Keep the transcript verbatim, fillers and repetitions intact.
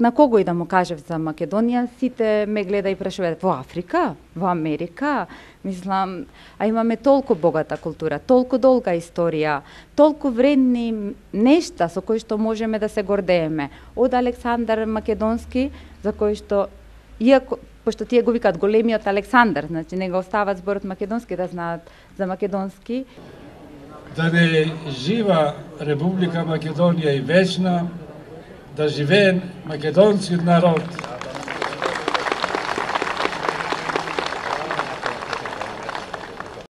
на кого и да му кажев за Македонија, сите ме гледа и прашуваат во Африка, во Америка, мислам, а имаме толку богата култура, толку долга историја, толку вредни нешта со кои што можеме да се гордееме. Од Александар Македонски, за кој што, иако, пошто тие го викаат големиот Александар, значи не го остават зборот македонски да знаат за македонски. Да не жива Република Македонија и вечна, да живее македонскиот народ.